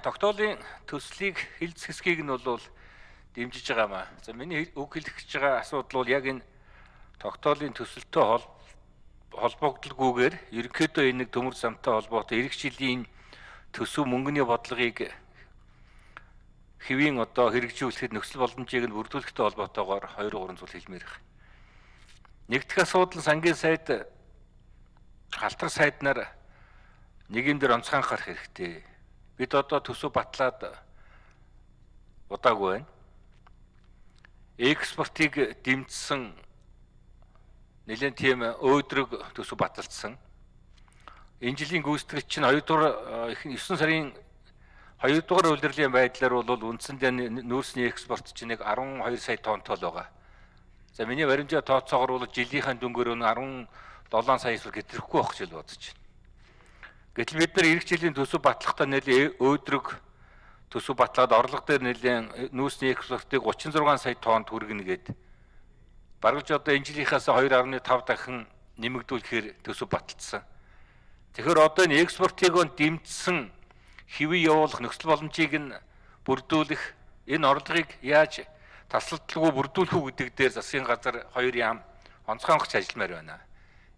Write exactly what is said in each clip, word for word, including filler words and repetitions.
Тогтоолын төслийг хилц хэсгийг нь бол дэмжиж байгаа маа. За миний үг хэлэх гэж байгаа асуудал бол яг энэ тогтоолын төсөлтөй холбогдлоггүйгээр ерөнхийдөө энэ төмөр замтай холбоотой эх жилийн төсөв мөнгөний бодлогыг хэвийн одоо хэрэгжүүлэхэд нөхцөл боломжийг нь бүрдүүлэхтэй холбоотойгоор хоёр гурван зүйл хэлмээр байна. Нэгдүгээр асуудал сангийн сайд халтар сайднаар нэг юм дээр онцгой анхаарах хэрэгтэй. Бид одоо төсөв батлаад удаагүй байна. Экспортыг дэмжсэн нэлээд тийм өөдрөг төсөв баталсан. Энэ жилийн гүйцэтгэгч чинь хоёрдугаар эсрэг сарын хоёрдугаар улирлын байдлаар бол үндсэндээ нүүрсний экспорт чинь нэг арван хоёр сая тоннтой л байгаа. За миний баримжаа тооцоогоор бол жилийнхаа дүнгээр нь арван долоон сая эсвэл гэтрэхгүй байх гэж бодож байна. Гэтэл бид нар эх жилийн төсөв батлахдаа нэлээд өөдрөг төсөв батлаад орлого дээр нэлээд нүүрсний экспортыг гучин зургаан сая тоннд хүргэнэ гээд бараг ч одоо энэ жилийнхээс хоёр гаруй тав дахин нэмэгдүүлэхээр төсөв баталсан. Тэгэхээр одоо энэ экспортыг дэмжсэн хэвээ явуулах нөхцөл боломжийг нь бүрдүүлэх энэ орлогыг яаж тасалдалгүй бүрдүүлэх үү гэдэг дээр засгийн газар хоёр яам онцгой хангаж ажилламаар байна.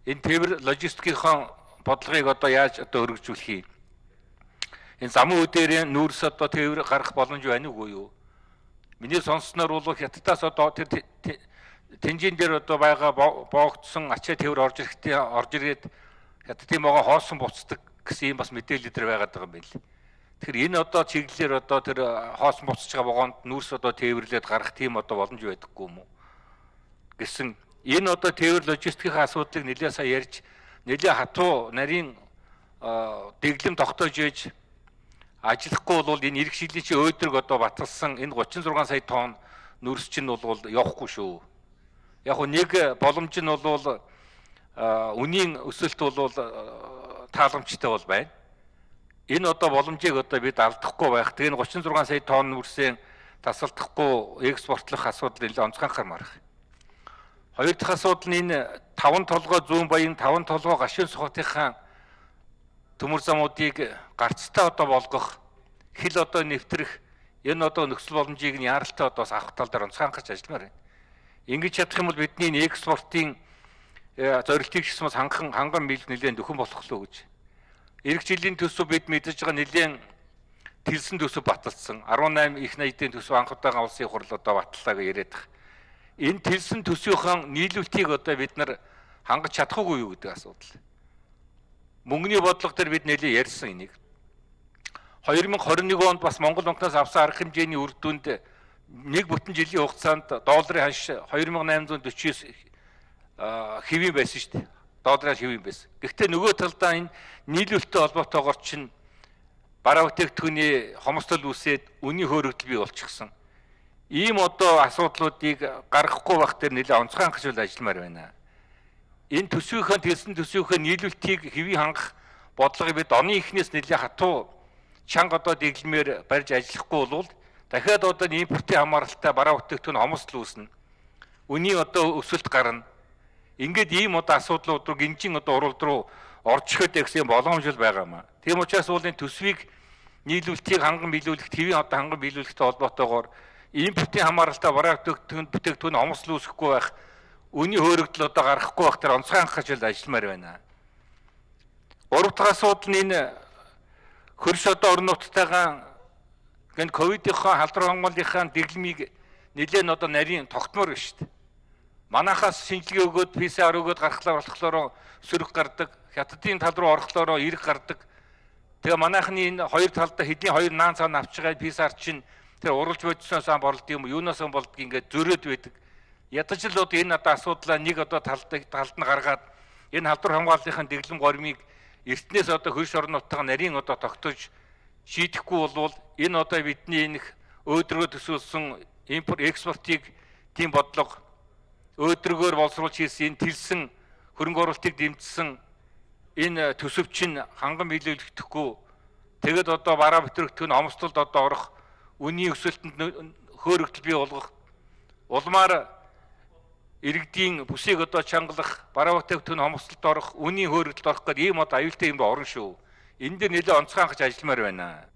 Энэ тээвэр логистикийн бодлогыг одоо яаж одоо өргөжүүлэх юм? Энэ замын үдээр нүүрс одоо тээвэр гарах боломж байна уу юу? Миний сонссноор бол хятадаас одоо тэр тэнжин дээр одоо байгаа боогдсон ачаа тээвэр орж ирэхдээ орж ирээд хятадын могоо хоосон буцдаг гэсэн юм бас мэдээлэл дээр байгаад байгаа юм байна. Тэгэхээр энэ одоо чиглэлээр одоо тэр хоосон буцаж байгаа вагонд нүүрс одоо тээвэрлээд гарах тийм одоо боломж байдаггүй юм уу? Гэсэн энэ одоо тээвэр логистикийн асуудлыг нэлээд сайн ярьж нэлээд хатуу нарийн дэглэм тогтоож ээж ажиллахгүй бол энэ эх жилийн чи өөдрөг одоо баталсан энэ гучин зургаан сая тонн нүүрс чинь бол явахгүй шүү. Яг нь нэг боломж нь бол үнийн өсөлт бол тааламжтай бол байна. Энэ одоо боломжийг одоо бид алдахгүй байх. Тэгээ энэ гучин зургаан сая тонн нүүрсээ тасалдахгүй экспортлох асуудал нэлээд онцгой анхаармаар байна. Хоёр дахь асуудал нь энэ таван толгой зүүн баян таван толгой гашуун сухатынхаа төмөр замуудыг гарцтай одоо болгох хил одоо нэвтрэх энэ одоо нөхцөл боломжийг нь яаралтай одоо авах тал дээр онцгой анхаарч ажилламаар байна. Ингэж чадах юм бол бидний экспортын зорилтыг ч бас ханган ханган мэл нэлээд нөхөн болох лөө гэж. Эх жилийн төсөв бид мэдэж байгаа нэлээд тэрсэн төсөв баталсан. арван найман их найдын төсөв анх удаага улсын хурл одоо батлаа гэж яриад байгаа. Энэ тэрсэн төсвийн нийлүүлэлтийг одоо бид нар хангаж чадахгүй юу гэдэг асуудал. Мөнгөний бодлого дээр бид нэлээд ярьсан энийг. хоёр мянга хорин нэг онд бас Монгол банкнаас авсан арга хэмжээний үр дүнд нэг бүтэн жилийн хугацаанд долларын ханш хоёр мянга найман зуун дөрвөн хэвийн байсан шүү дээ. Долларын хэвийн байсан. Гэхдээ нөгөө талдаа энэ нийлүүлэлттэй холбоотойгоор чинь бараа бүтээгдэхүүний хомсдол үүсээд үнийн хөөрөгдөл бий болчихсон. Ийм одоо асуудлуудыг гаргахгүй байх дээр нэлээд онцгой хангаж ажилламаар байна. Энэ төсвийнхөө тэрсэн төсвийнхөө нийлүүлэлтийг хэвийн хангах бодлогыг бид оны эхнээс нэлээд хатуу чанга одоо дэглэмээр барьж ажиллахгүй бол дахиад одоо импортын хамааралтай бараа бүтээгдэхүүн хомсдол үүснэ. Үнийн одоо өсөлт гарна. Ингээд ийм одоо асуудлууд руу гинжин одоо уралд руу орж ихэд гэсэн боломж л байгаамаа. Тийм учраас бол энэ төсвийг нийлүүлэлтийг ханган биелүүлэхэд хэвийн одоо ханган биелүүлэхтэй холбоотойгоор импортын хамааралтай бараа бүтээгдэхүүн бүтээгдэхүүн хомсдол үүсэхгүй байх, үнийн хөөрөгдөл одоо гаргахгүй байх тэр онцгой анхаарч ажилламаар байна. Гурав дахь асуудал нь энэ хөрш одоо орон нутгатайгаа гэн ковидынхаа халдвар хамгааллынхаа дэглэмийг нэлээд одоо нарийн тогтмоор байна шүү дээ. Манайхаас шинжилгээ өгөөд пэ эс ар өгөөд гаргалаа болохлоороо сөрөг гардаг, хятадын тал руу орохлоороо эрг гардаг. Тэгээ манайхны энэ хоёр талдаа хэдийн хоёр наан цаана авч байгаа пэ эс ар чинь тэр уралж бодсноос ам борлд юм юунаас ам болдг ингээд зөрөөд байдаг. Ядаж л одоо энэ одоо асуудлаа нэг одоо талд талд нь гаргаад энэ халдвар хамгааллынхаа дэглэм гормыг эртнээс одоо хөрш орон нутгаа нарийн одоо тогтоож шийдэхгүй болвол энэ одоо бидний энэ өөдрөгөө төсөөлсөн импорт экспортыг тийм бодлого өөдрөгөөр боловсруулж хийсэн энэ тэрсэн хөрөнгө оруулалтыг дэмжсэн энэ төсөв чинь ханган биелүүлэгдэхгүй тэгэд одоо бараа бүтээгдэхүүн хомсдолд одоо орох үнийн өсөлтөнд хөөрөгдөл бий болгох улмаар иргэдийн бүсийг одоо чангалах бараа бүтээгдэхүүн хомсдолд орох үнийн хөөрөгдөлд орох гэдэг ийм одоо аюултай юм орно шүү. Энэ дээр нэлээд онцгой хангаж ажилламаар байна.